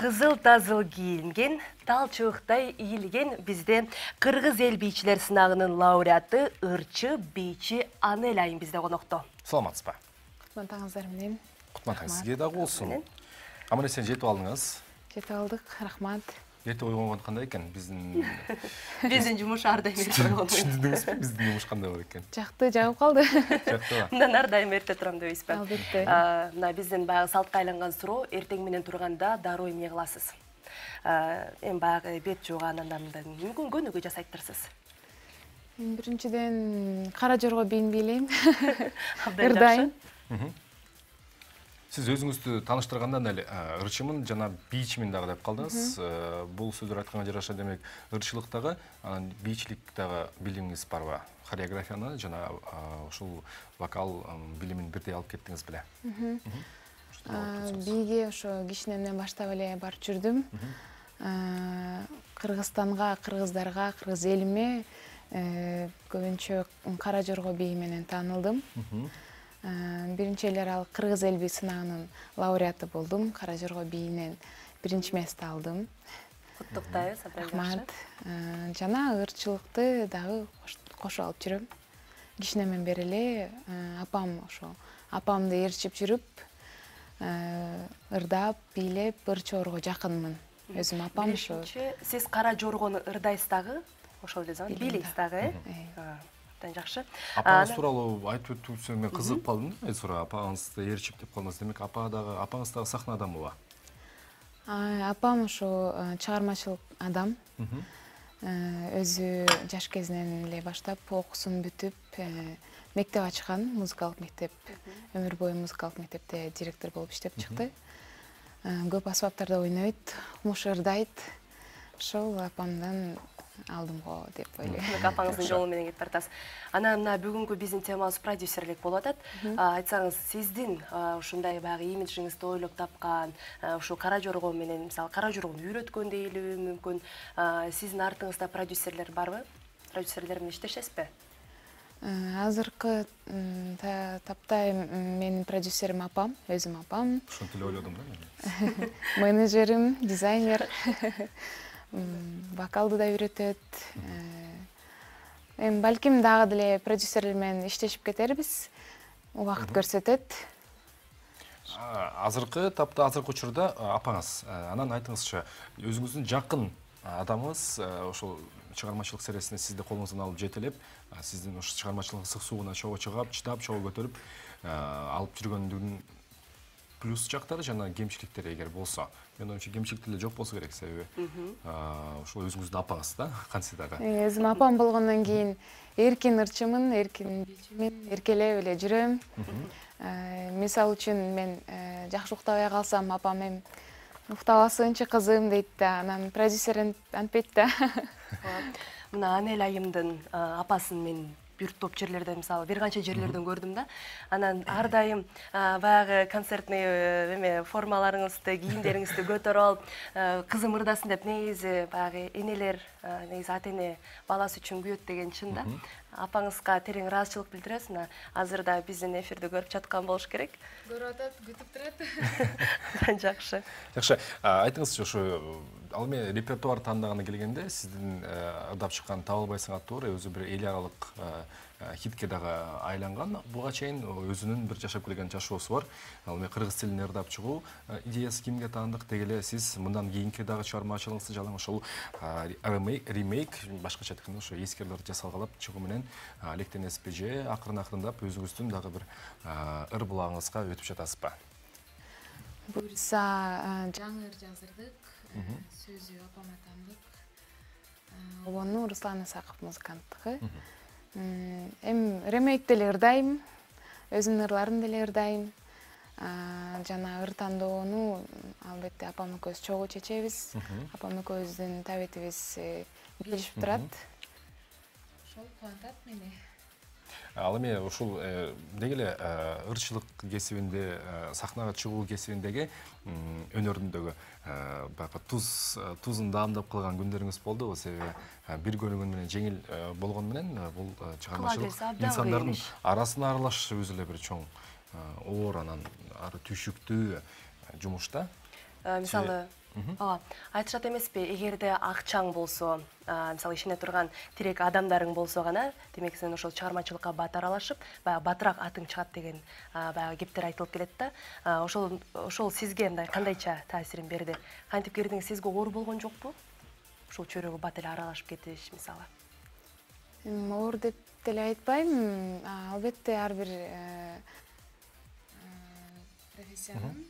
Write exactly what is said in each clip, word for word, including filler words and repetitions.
Кызыл тазыл кийинген, талчыбыктай ийилген бизде кыргыз эл бийчилер сынагынын лауреаты ырчы бийчи Анель айым бизде конокто. Саламатсызбы? Кутман менен. Кутман сизге дагы болсун. Амане сен жетип алдыңыз? Жетип алдык, рахмат. Эрте ойгонгон кандай экен? Биздин биздин жумуш ар дайым эрте ойгонот. Түшүндүңүзбү? Биздин жумуш кандай болот экен? Жакты, жагып калды. Жактыбы? Мындан ар дайым эрте турам дебейсизби? Албетте. Мына биздин баягы салтка айланган суроо, эртең менен турганда дароо эмне кыласыз? Эми баягы бет жууган андан мүмкүн көнүгүү жасайттырсыз. Биринчиден кара жорго бийинбей элейм. Ырдайм. Сиз өзүңүздү тааныштырганда эле ырчымын жана бийчимин дагы деп калдыңыз. Бул сөздөр айтканга жараша демек ырчылыктагы, анан бийчиликтагы билимиңиз барбы? Хореографияны жана ушул вокал билимин бирдей алып кеттиңиз беле? Бийге ошо кичинемден баштап эле барып жүрдүм. Кыргызстанга, кыргыздарга, кыргыз элиме көбүнчө кара жорго бии менен таанылдым. Биринчи эле ал кыргыз эл бий сынагынын лауреаты болдум. Кара жорго бийинен биринчи месте алдым. Куттуктайбыз, рахмат. Жана ырчылыкты дагы кошо алып жүрөм. Кичинемден бери эле апам ошо апамды ээрчип жүрүп, ырдап, бийлеп, ырчоорго жакынмын. Өзүм апам ошо. Сиз кара жоргону ырдайсыз дагы? Ошол эле зам, бийлейсиз дагы, э? Абдан жакшы. Апаңыз тууралуу айтып өтүүсүң мен кызыгып калдым да. Sonra апаңызды ээрчип деп калдыңыз. Демек апа дагы апаңыз дагы сахна адамыбы? Апам ошо чыгармачылык адам. Өзү жаш кезинен эле баштап окуусун бүтүп, мектеп ачкан, музыкалык мектеп, өмүр бою музыкалык мектепте директор болуп иштеп чыкты. Көп асбаптарда ойнойт, муш ырдайт. Ошол апамдан алдым го деп ойлойм. Апаңыздын жолу менен кетип баратасыз. Анан мына бүгүнкү биздин темабыз продюсерлик болуп атат. Айтсаңыз, сиздин ушундай баягы имиджиңизди ойлоп тапкан, ушу кара жорго менен, мисалы, кара жоргону үйрөткөн дейбиби мүмкүн, сиздин артыңызда продюсерлер барбы? Продюсерлер менен иштешесизби? Азыркы тапта менин продюсерим апам, өзүм апам. Ошентип эле ойлодум да. Менеджерим, дизайнер. Вокалды да үйрөтөт. Эми балким дагы деле продюсерлер менен иштешип кетербиз. Убакыт көрсөтөт. Азыркы тапта, азыркы учурда апаңыз, анан айтыңызчы, өзүңүздүн жакын адамыңыз ошол чыгармачылык серисине сизди колуңуздан алып жетелеп, сиздин ошо чыгармачылык ысык сууна чогуу чыгап, чыдап, чогуу көтөрүп алып жүргөндүгүн плюс жактары жана кемчиликтери эгер болсо, мен оюмча кемчиликтер жок болсо керек, себеби ошол өзүңүздүн апаңыз да, кантсе дагы. Өзүм апам болгондон кийин эркин ырчымын, эркин бийчимин, эркелеп эле жүрөм. Мисалы үчүн мен жакшы уктабай калсам, апам эми уктабасынчы кызым дейт да, анан продюсер антпейт да. Мына Анель айымдын апасын мен бир топ жерлерден, мисалы, бир канча жерлерден көрдүм да. Анан ар дайым баягы концертный эме формаларыңызды, кийимдериңизди көтөрүп алып, кызым ырдасын деп, негизи баягы энелер, негизи ата-эне баласы үчүн күйөт деген чын да. Апаңызга терең ыраазычылык билдиресиз. Мына азыр да биздин эфирди көрүп жаткан болуш керек. Көрүп атат, күтүп турат. Жакшы. Жакшы. Айтыңызчы, ошо ал эми репертуар тандаганы келгенде сиздин ырдап чыккан Табылбайсың аттуу өзү бир эл аралык хитке дагы айланган. Буга чейин өзүнүн бир жашап келген жашоосу бар. Ал эми кыргыз тилинде ырдап чыгуу идеясы кимге таандык дегеле, сиз мындан кийинки дагы чыгармачылыгыңызды жалаң ошол ремейк, башкача айтканда ошо эскерлерди жасалгалап чыгуу менен алектенесизби же акырын-акырындап өзүңүздүн дагы бир ыр булагыңызга өтүп жатасызбы? Буюрса жаңы ыр жаздырдык. Сөзү апама таандык. Обону Руслан Исаков музыканттыгы. Эми ремейкте эле ырдайм, өзүмдүн ырларымды деле ырдайм. Жана ыр тандоону албетте апам экөөбүз чогуу чечебиз. Апам экөөбүздүн табетибиз билишип турат. Ошол кубантат мени. Ал эми ушул деги эле ырчылык кесибинде, сахнага чыгуу кесибиндеги өнөрүндөгү баягы туз тузун даамдап калган күндөрүңүз болдубу? Себеби бир көрүнгөн менен жеңил болгону менен бул чыгармачылык инсандардын арасына аралашышы өзү эле бир чоң оор, анан ары түйшүктүү жумуш да. мисалы ооба айтышат эмеспи, эгерде акчаң болсо, мисалы ишене турган тирек адамдарың болсо гана, демек сен ошол чыгармачылыкка бат аралашып, баягы батыраак атың чыгат деген баягы кептер айтылып келет да. Ошол ошол сизге мындай кандайча таасирин берди? Кантип кирдиңиз, сизге оор болгон жокпу? Ушул чөйрөгө бат эле аралашып кетиш мисалы. Оор деп деле айтпайм. Албетте ар бир профессиянын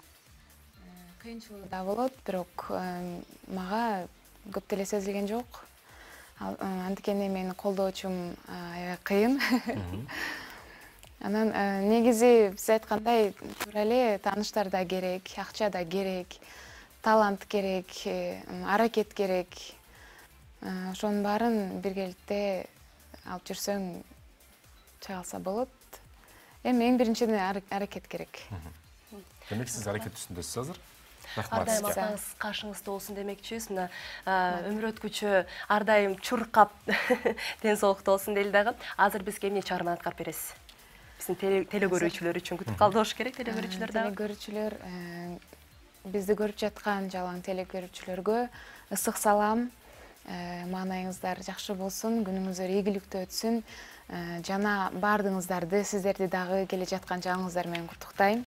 кыйынчылыгы да болот, бирок мага көп деле сезилген жок. Антикени менин колдоочум аябай кыйын. Анан негизи биз айткандай туура эле тааныштар да керек, акча да керек, талант керек, аракет керек. Ошонун баарын биргеликте алып жүрсөң чыга алса болот. Эми эң биринчиден аракет керек. Демек сиз аракет үстүндөсүз азыр? Ар дайым атаңыз кашыңызда болсун демекчибиз. Мына өмүр өткүчү ар дайым чуркап ден соолукта болсун дейли дагы. Азыр бизге эмне чыгарманы аткарып бересиз? Биздин теле көрүүчүлөр үчүн күтүп калды болуш керек, теле көрүүчүлөр дагы. Теле көрүүчүлөр, бизди көрүп жаткан жалаң теле көрүүчүлөргө ысык салам. Маанайыңыздар жакшы болсун, күнүңүздөр ийгиликтүү өтсүн. Жана баардыгыңыздарды, сиздерди дагы келе жаткан жаңыңыздар менен куттуктайм.